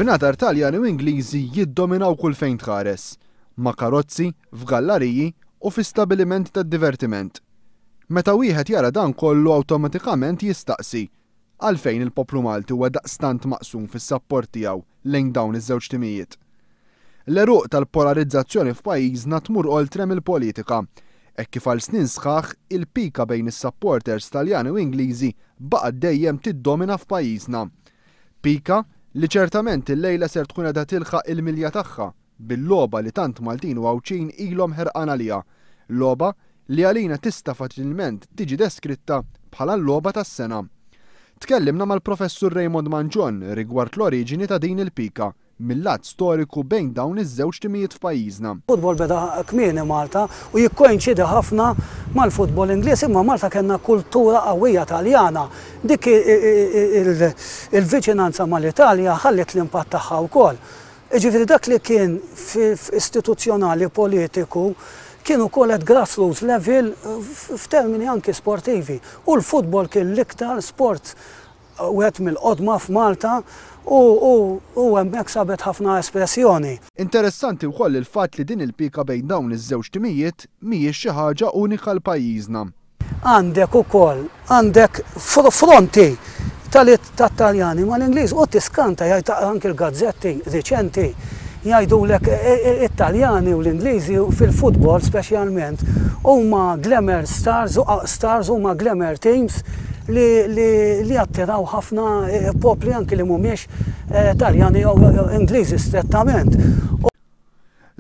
Bnadar Taljani u Ingliżi jiddominaw kull fejn tħares, ma' karozzi, f'gallariji u fi stabilimenti tad-divertiment. Meta wieħed jara dan kollu awtomatikament jistaqsi, għalfejn il-poplu Malti huwa daqstant maqsum fis-sapport tiegħu lejn dawn iż-żewġ timijiet? L-għeruq tal-polarizzazzjoni f'pajjiżna tmur oltre mill-politika, hekk kif għal snin sħaħ il-pika bejn is-supporters Taljani u Ingliżi baqgħet dejjem tiddomina f'pajjiżna. Pika li ċertament illejla ser tkun qiegħda tilħaq il-milja tagħha bil-logħba li tant Maltin u Għawdxin ilhom ħerqan għaliha, logħba li għalina tista' faċilment tiġi deskritta bħala l-logħba tas-sena. Tkellimna mal-Professur Raymond Mangion rigward l-oriġini ta' din il-pika mil-lat storiku bejn dawn iż-żewġ timijiet f'pajjiżna. Futbol beda kmieni Malta u jikkoinċidi ħafna mal-futbol Ingliż imma Malta kellna kultura qawwija Taljana. Dik il-viċinanza mal-Italja ħalliet l-impatt tagħha wkoll. Jiġifieri dak li kien istituzzjonali politiku kien ukoll at grassroots level f'termini anki sportivi. U l-futbol kien l-iktar sport wieħed mill-qodma f'Malta u u hemmhekk sabet ħafna espressjoni. Interessanti wkoll il-fatt li din il-pika bejn dawn iż-żewġ timijiet mhijiex xi ħaġa unika għal pajjiżna. Għandek ukoll għandek fronti tat-Taljani mal-Ingliż u tiskanta jgħid anki l-gazzetti riċenti jgħidulek it-Taljani u l-Ingliżi fil-futbol speċjalment huma glamour stars stars huma glamour teams li li jattiraw ħafna popli anki li mhumiex Taljani jew Ingliżi strettament.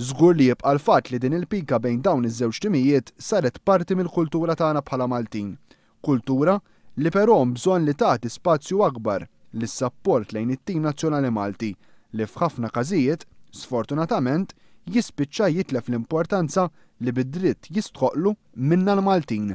Żgur li jibqa' l-fatt li din il-pika bejn dawn iż-żewġ timijiet saret parti mill-kultura tagħna bħala Maltin. Kultura li però hemm bżonn li tagħti spazju akbar lis-sapport lejn it-tim nazzjonali Malti li f'ħafna każijiet, sfortunatament, jispiċċa jitlef l-importanza li bi dritt jistħoqqlu minna l-Maltin.